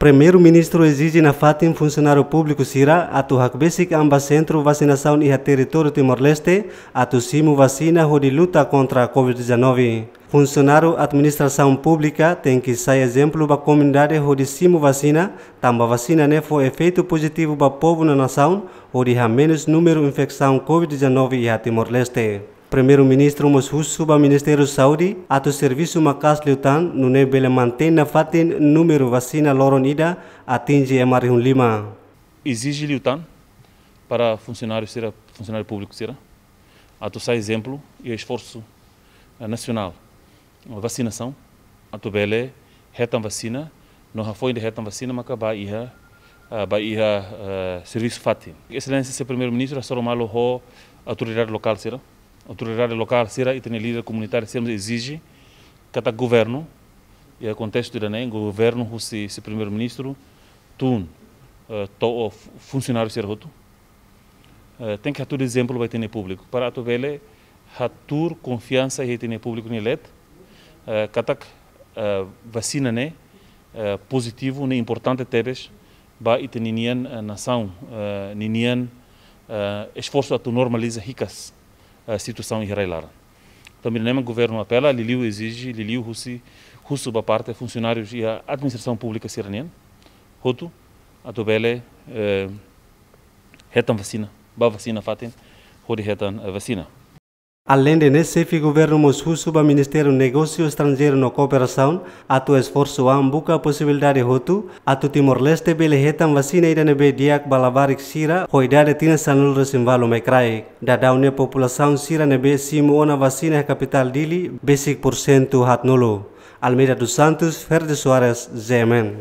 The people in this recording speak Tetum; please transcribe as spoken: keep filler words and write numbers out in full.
Primeiru-Ministru ezije nafatin funsionáriu públiku sira atu hakbesik an ba sentru vasinasaun iha territóriu Timor-Leste atu simu vasina hodi luta kontra covid dezanove. Funsionáriu administrasaun públika tenke sai ezemplu ba komunidade hodi simu vasina, tanba vasina ne'e fó efeitu pozitivu ba povu no nasaun, hodi hamenus númeru infesaun covid dezanove iha Timor-Leste. Primeiru-Ministru mós husu ba Ministériu Saúde atu servisu maka'as liután, nune'e bele mantein nafatin númeru vasina loron ida atinje ema rihun lima. Ezije liután para funsionáriu sira, funsionáriu públiku sira, atu sai ezemplu iha esforsu, eh, nasionál vasinasaun, atu bele hetan vasina, no hafoin de hetan vasina maka bá iha, ah, bá iha, eh, servisu fatin. Exelénsia Señór Primeiru-Ministru hasoru malu ho autoridade lokál sira. Autoridade lokál sira, ita-nia líder komunitáriu sira ezije katak governu, iha kontestu ida-ne'e, governu husi, husi Primeiru-Ministru tun, eh, to'o fu-, funsionáriu sira hotu, eh, tenke hatudu ezemplu ba ita-nia públiku, para atu bele hatuur konfiansa iha ita-nia públiku nia leet, eh, katak, eh, vasina ne'e, eh, pozitivu, ne'e importante tebes ba ita ninian, eh, nasaun, eh, ninian, eh, esforsu atu normaliza hikas, eh, situasaun iha rai-laran. Tanba ne'e mak governu apela, liuliu ezije, liuliu husi, husu ba parte funsionárius iha administrasaun públika sira-nian hotu, atu bele, eh, hetan vasina, bá vasina fatin, hodi hetan, eh, vasina. Aleinde ne'e, xefe governu mós husu ba Ministériu Negósiu Estranjeiru no Kooperasaun atu esforsu an buka posibilidade hotu atu Timor-Leste bele hetan vasina ida ne'ebé di'ak ba labarik sira ho idade tinan sanulu-resin-ualu mai kraik. Daudaun ne'e populasaun sira ne'ebé simu ona vasina iha kapitál Dili besik pursentu haatnulu. Almeida dos Santos, Ferde Soares, G M N.